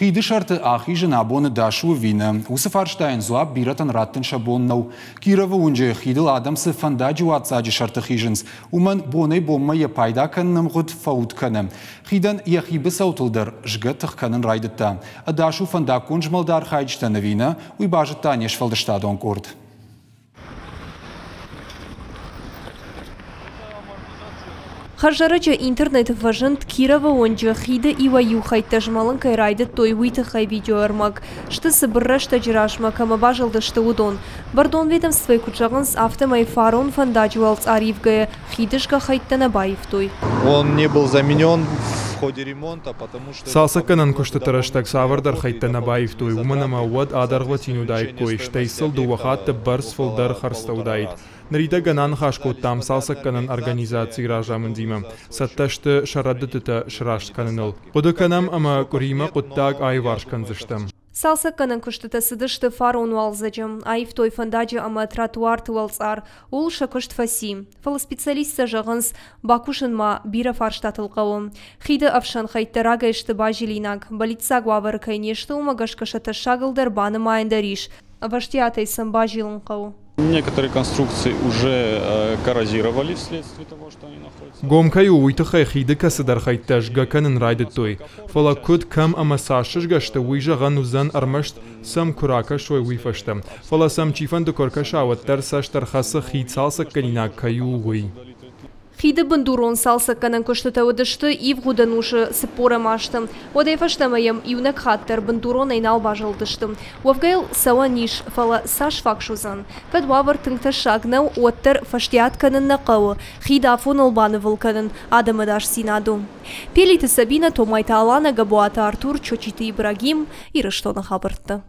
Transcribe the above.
Хиды сӕрты ахизын абон ӕдас у ӕви нӕ? Уыцы фарстайӕн дзуапп бирӕтӕн раттын сӕ бон нӕу. Кировы уынджы хидыл адӕм цы фӕндаджы уадздзаджы сӕрты хизынц, уымӕн бонӕй-бонмӕ йӕ пайда кӕныны ӕмгъуыд фӕуд кӕны. Хидӕн йӕхи быцӕутыл дӕр згӕ тых кӕнын райдыдта. Ӕдас у фӕндаггон змӕлды архайджытӕн ӕви нӕ, уый базыдта не сфӕлдыстадон къорд. Хӕрзӕрӕджы интернеты фӕзынд Кировы уынджы хиды иуӕй-иу хӕйттӕ змӕлын кӕй райдыдтой, уый тыххӕй видеоӕрмӕг. Сты цыбыр рӕстӕджы размӕ кӕмӕ базылдысты, уыдон. Бӕрнон ведомствойы куыд зӕгъынц, афтӕмӕй фарон фӕндаджы уӕлцъар ивгӕйӕ хиды згӕ хӕйттӕ нӕ баивтой. Он не был заменен в ходе ремонта, потому что Цалцӕггӕнӕн куыстыты рӕстӕг цавӕрдӕр хӕйттӕ нӕ баивтой, уымӕн ӕмӕ уӕд адӕргъвӕтин уыдаиккой, стӕй сыл дыууӕ хатты бӕрц фылдӕр хӕрдзтӕ уыдаид. Ныридӕгӕн аныхас кодтам цалцӕггӕнӕн организацийы разамындимӕ. Цӕттӕ сты сӕ рӕдыдтытӕ сраст кӕныныл. Хъуыды кӕнӕм ӕмӕ къуыримӕ хъуыддаг аиуварс кӕндзыстӕм. Цалцӕггӕнӕн куыстытӕ цыдысты фарон уалдзӕджы. Аивтой фӕндаджы ӕмӕ тротуарты уӕлцъар. Ууыл сӕ куыст фӕци. Фӕлӕ специалисттӕ зӕгъынц, бакусын ма бирӕ фарстатыл хъӕуы. Хиды ӕфсӕн хӕйттӕ рагӕй сты базилинаг. Бӕллиццаг уавӕры кӕй не сты, уымӕ гӕсгӕ сӕ тӕссагыл дӕр банымайӕн дӕр ис. Ӕвӕстиатӕй сӕм базилын хъӕуы. Некоторые конструкции уже коррозировали вследствие того, что они находятся. Гом кӕй у, уый тыххӕй хиды кӕцыдӕр хӕйттӕ згӕ кӕнын райдыдтой. Фӕлӕ куыд, кӕм ӕмӕ цас сызгӕ сты, уый зӕгъӕн уыдзӕн ӕрмӕст сӕм куы ракӕсой, уый фӕстӕ. Фӕлӕ сӕм чифӕнды куы ӕркӕса, уӕддӕр цӕст ӕрхӕцы хид цалцӕггӕнинаг кӕй у, уый. Хиды бындурон цалцӕггӕнӕн куыстытӕ уыдысты ивгъуыд ӕнусы цыппорӕм азты. Уӕдӕй фӕстӕмӕ йӕм иунӕг хатт дӕр бындуронӕй нал базылдысты. Уӕвгӕ йыл цӕуӕн ис, фӕлӕ цас фаг суыдзӕн? Кӕд уавӕр тынг тӕссаг нӕу, уӕддӕр фӕстиат кӕнын нӕ хъӕуы, хид афоныл банывыл кӕнын адӕмы ӕдасдзинад у. Пелиты Сабинӕ, Томайты Аланӕ, Габуаты Артур, Чочиты Ибрагим, Ирыстоны хабӕрттӕ.